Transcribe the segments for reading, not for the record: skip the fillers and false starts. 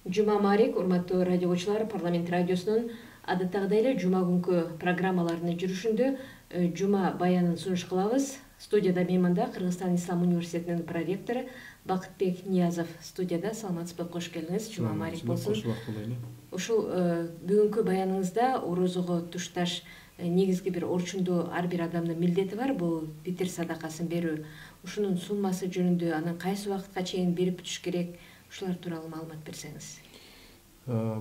Жума Марик, урматтуу радиочулар, парламент радиосунун адаттагыдай эле жума күнкү программаларынын жүрүшүндө жума баянын сунуш кылабыз. Студияда мейманда Кыргызстан Ислам университетинин проректору Бакытбек Ниязов студияда. Саламатсызбы, кош келиңиз. Жума Марик болсун. Ушул бүгүнкү баяныңызда орозого тушташ негизги бир орчундуу ар бир адамдын милдети бар, бул питир садакасын берүү. Ушунун суммасы жөнүндө, анан кайсы убакытка чейин берип бүтүш керек, ушулар тууралуу маалымат берсеңиз.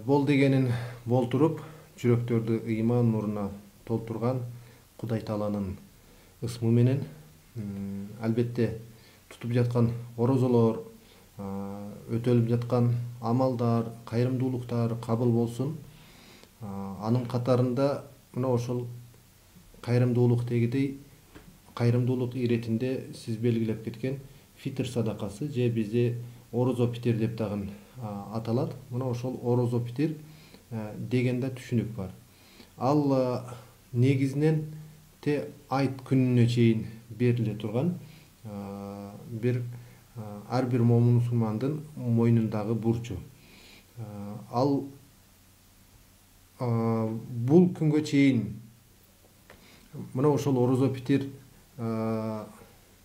Бол дегенин болтуруп, жүрөктөрдү ыйман нуруна толтурган Кудай Тааланын ысмы менен албетте тутуп жаткан орозолор, өтөлүп жаткан амалдар, кайрымдуулуктар кабыл болсун. Анын катарында мына ошол кайрымдуулук дегидей, кайрымдуулук иретинде сиз белгилеп кеткен фитр садакасы же бизде орозо питир деп дагы аталат. Мына ошол орозо питир деген да түшүнүк бар. Ал негизинен айт күнүнө чейин бериле турган бир ар бир мусулмандын мойнундагы бурчу. Ал бул күнгө чейин мына ошол орозо питир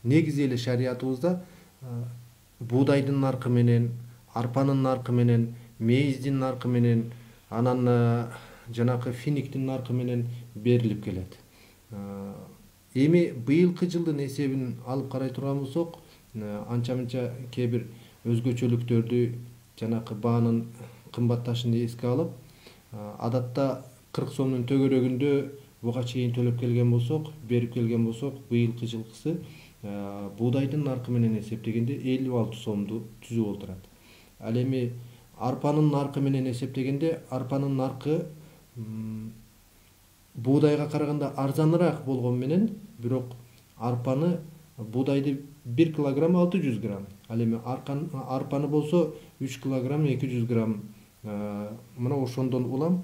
негизи эле шариятыбызда буудайдын наркы менен, арпанын наркы менен, мейиздин наркы менен, анан жанакы финиктин наркы менен берилип келет. Эми быйылкы жылдын эсебин алып карай турган болсок, анча-мынча кээ бир өзгөчөлүктөрдү, жанакы баанын кымбатташын эске алып, адатта 40 сомдун төгөрөгүндө буга чейин төлөп келген болсок, берип келген болсок, быйылкы жылкысы буудайдын наркы менен эсептегенде 56 сомду түзүп отурат. Ал эми арпанын наркы менен эсептегенде, арпанын наркы буудайга караганда арзаныраак болгон менен, бирок арпаны, буудайды 1 килограмм 600 грамм. Ал эми арпаны болсо 3 килограмм 200 грамм. Мына ошондон улам.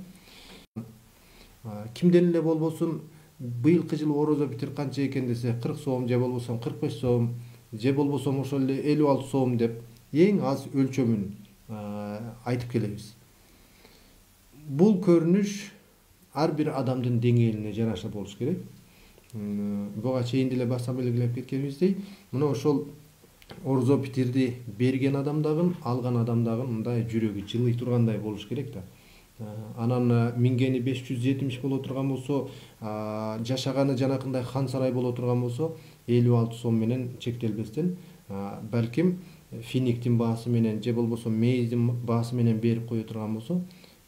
Кимден эле болбосун, быйылкы жылы орозо питир канча экен десе, 40 сом же болбосо 45 сом, же болбосо ошол эле 56 сом деп эң аз өлчөмүн айтып келебиз. Бул көрүнүш ар бир адамдын деңгээлине жараша болуш керек. Буга чейин деле баса белгилеп кеткенибиздей, мына ошол орозо питирди берген адам дагы, алган адам дагы мындай жүрөгү жылый тургандай болуш керек да. Анан мингени 570 боло турган болсо, жашаганы жанакындай хан сарай боло турган болсо, 56 сом менен чектелбестен, балким финиктин баасы менен же болбосо мейиздин баасы менен берип кое турган болсо,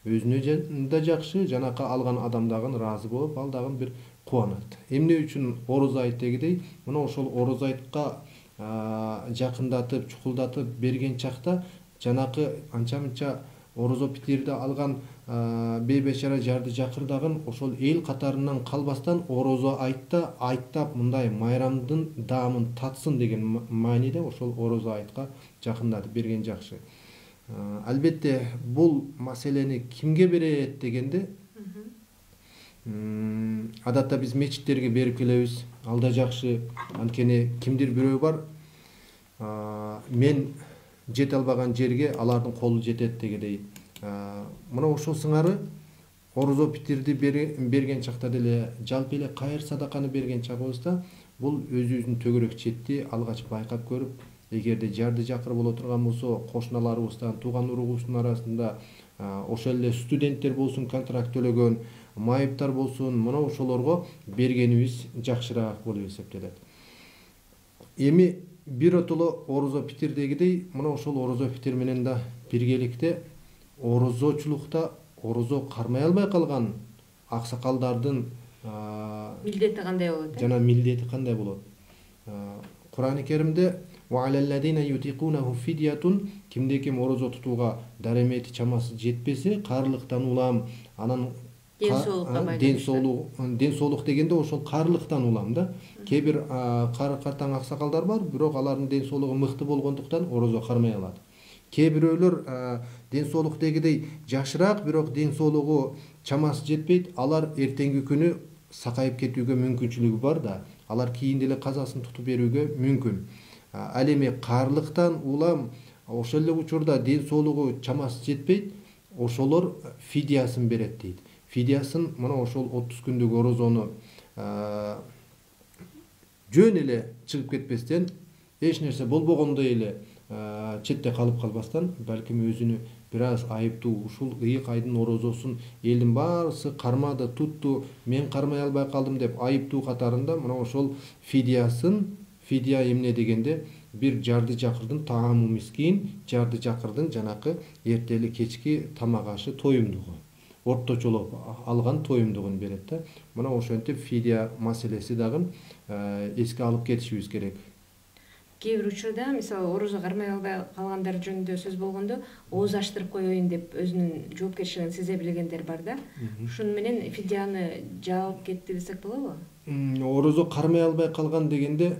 өзүнө да жакшы, жанакы алган адам дагы ыраазы болуп, ал дагы бир кубанат. Эмне үчүн орозо айт дегидей, мына ошол орозо айтка жакындатып, чукулдатып берген чакта жанакы анча-мынча орозо питирди алган бейбечара жарды жакырдагын ошол эл катарынан калбастан орозо айтта айттап мындай майрамдын даамын татсын деген мааниде ошол орозо айтка жакындатып берген жакшы. Албетте бул маселени кимге берет дегенде, адатта биз мечиттерге берип келебиз. Ал да жакшы. Анткени кимдир бирөө бар, мен жете албаган жерге алардын колу жетет дегендей. Мына ошол сыңары орозо питирди берген чакта деле, жалпы эле кайыр садаканы берген чагыбызда бул өзүбүздүн төгөрөк четти алгач байкап көрүп, эгерде жарды жакыр боло турган болсо, кошуналарыбыздан, тууган уругубуздун арасында ошол эле студенттер болсун, контракт төлөгөн, майыптар болсун, мына ошолорго бергенибиз жакшыраак болуп эсептелет. Эми биротоло орозо питир дегидей, мына ошол орозо питир менен да биргеликте орозочулукта орозо кармай албай калган аксакалдардын милдети кандай болот? Жана милдети кандай болот? Кур'ан-ы Керимде кимде ким орозо тутууга даремети чамасы жетпесе, каарылыктан улам, анан ден соолук дегенде ошол каарылыктан улам да. Кээ бир картаң аксакалдар бар, бирок алардын ден соолугу мыкты болгондуктан орозо кармай алат. Кээ бирөөлөр ден соолук дегидей жакшыраак, бирок ден соолугу чамасы жетпейт, алар эртеңки күнү сакайып кетүүгө мүмкүнчүлүгү бар да. Алар кийин деле казасын тутуп берүүгө мүмкүн. Ал эми каарылыктан улам ошол эле учурда ден соолугу чамасы жетпейт, ошолор фидиясын берет дейт. Фидиясын мына ошол 30 күндүк орозону жөн эле чыгып кетпестен, эч нерсе болбогондой эле четте калып калбастан, балким өзүнү бир аз айыптуу, ушул ыйык айдын орозосун элдин баарысы кармады, тутту, мен кармай албай калдым деп айыптуу катарында мына ошол фидиясын, фидия эмне дегенде бир жарды жакырдын таамы мискин, жарды жакырдын жанакы эртели кечки тамак ашы тоюмдугу, орточолоп алган тоюмдугун берет да. Мына ошентип фидия маселеси дагы эске алып кетишибиз керек. Кээ бир учурда мисалы орозо кармай албай калгандар жөнүндө сөз болгондо ооз аштырып коеюн деп өзүнүн жоопкерчилигин сезе билгендер бар да. Ушуну менен фидияны жаап кетти десек болобу? Орозо кармай албай калган дегенде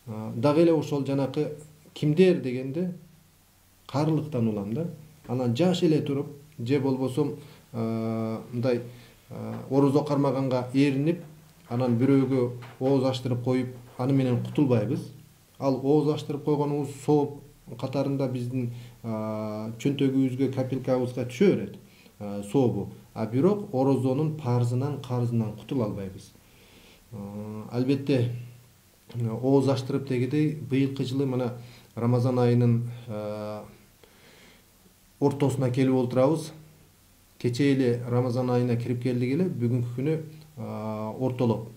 дагы эле ошол жанакы кимдер дегенде каарылыктан улам да. Анан жаш эле туруп же болбосо мындай орозо кармаганга эринип, анан бирөөгө ооз аштырып коюп, аны менен кутулбайбыз. Ал ооз аштырып койгонубуз сооп катарында биздин чөнтөгүбүзгө, капилкабызга түшө берет сообу. А бирок орозонун парзынан, карзынан кутула албайбыз. Албетте ооз аштырып дегендей быйылкы жылы мына Рамазан айынын ортосуна келип отурабыз. Кечээ эле Рамазан айына кирип келдик эле, бүгүнкү күнү ортолоп.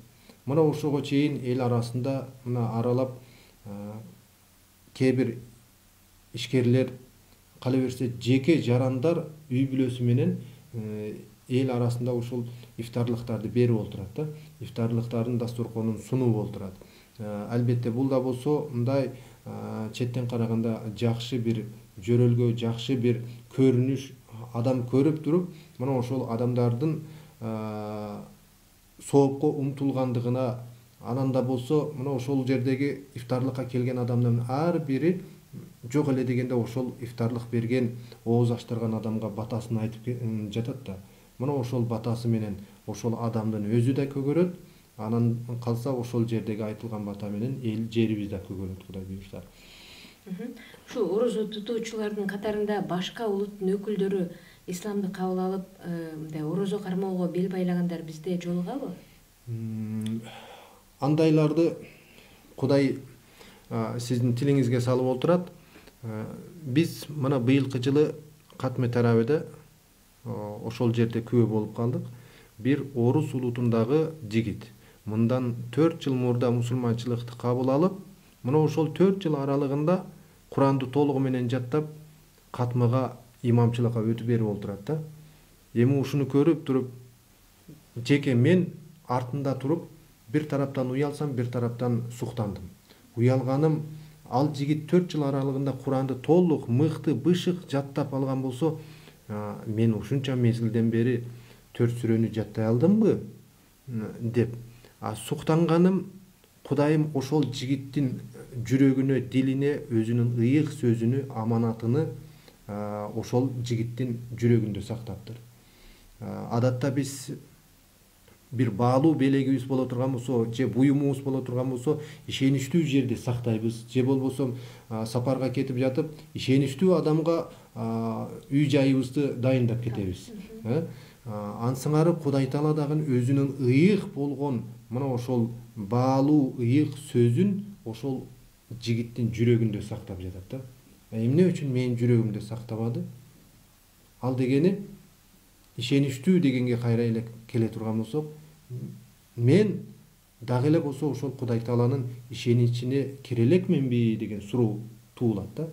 Мына ошого чейин эл арасында мына аралап кээ бир ишкерлер, кала берсе жеке жарандар үй бүлөсү менен эл арасында ушул ифтарлыктарды берип отурат да. Ифтарлыктардын дасторконун сунуп отурат. Албетте бул да болсо мындай четтен караганда жакшы бир жөрөлгө, жакшы бир көрүнүш, адам көрүп туруп, мына ошол адамдардын соопко умтулгандыгына, анан да болсо мына ошол жердеги ифтарлыкка келген адамдын ар бири жок эле дегенде ошол ифтарлык берген, ооз аштырган адамга батасын айтып жатат да. Мына ошол батасы менен ошол адамдын өзү да көгөрөт, анан калса ошол жердеги айтылган бата менен эл жерибиз да көгөрөт, Кудай буйрса. Ушул орозо тутуучулардын катарында башка улуттун өкүлдөрү исламды кабыл алып, мындай орозо кармоого бел байлагандар бизде жолугабы? Андайларды Кудай сиздин тилиңизге салып отурат. Биз мына быйылкы жылы Катме Тараведе ошол жерде күбө болуп калдык. Бир орус улутундагы жигит мындан 4 жыл мурда мусулманчылыкты кабыл алып, мына ошол 4 жыл аралыгында Куранды толугу менен жаттап, катмага имамчылыкка өтүп берип отурат да. Эми ушуну көрүп туруп, жеке мен артында туруп, бир тараптан уялсам, бир тараптан суктандым. Уялганым, ал жигит 4 жыл аралыгында Куранды толук, мыкты, бышык жаттап алган болсо, мен ушунча мезгилден бери 4 сүрөнү жаттай алдымбы деп. Суктанганым, Кудайым ошол жигиттин жүрөгүнө, дилине, өзүнүн ыйык сөзүнү, аманатыны ошол жигиттин жүрөгүндө сактаптыр. Адатта биз бир баалуу белегибиз боло турган болсо, же буюмубуз боло турган болсо, ишеничтүү жерде сактайбыз, же болбосо сапарга кетип жатып, ишеничтүү адамга үй жайыбызды дайындап кетебиз. Ансыңары Кудай Таала дагы өзүнүн ыйык болгон мына ошол баалуу ыйык сөзүн ошол жигиттин жүрөгүндө сактап жатат да. Эмне үчүн менин жүрөгүмдө сактабады? Ал дегени ишеничтүү дегенге кайра эле келе турган болсок, мен дагы эле болсо ошол Кудай Тааланын ишеничине кире элекменби деген суроо туулат да.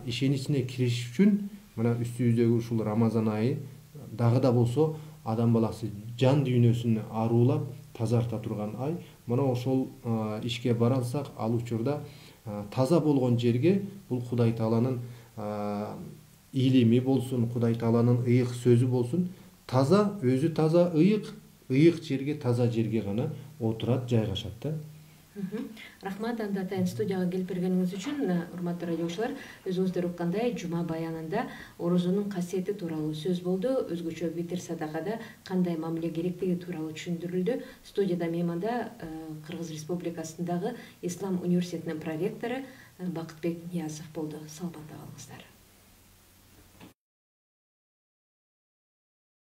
Ишеничине кириш үчүн мына үстүбүздөгү ушул Рамазан айы дагы да болсо адам баласы жан дүйнөсүн аруулап тазарта турган ай. Мына ошол ишке бара алсак, ал учурда таза болгон жерге бул Кудай Тааланын илими болсун, Кудай Тааланын ыйык сөзү болсун, таза, өзү таза, ыйык жерге, таза жерге гана отурат, жайгашат да. Рахмат, анда атайын студияга келип бергениңиз үчүн. Урматтуу радиочулар, өзүңүздөр уккандай жума баянында орозонун касиети тууралуу сөз болду. Өзгөчө витр садакада кандай мамиле керектиги тууралуу түшүндүрүлдү. Студияда мейманда Кыргыз Республикасындагы Ислам университетинин проректору Бакытбек Ниязов болду. Саламатта калыңыздар.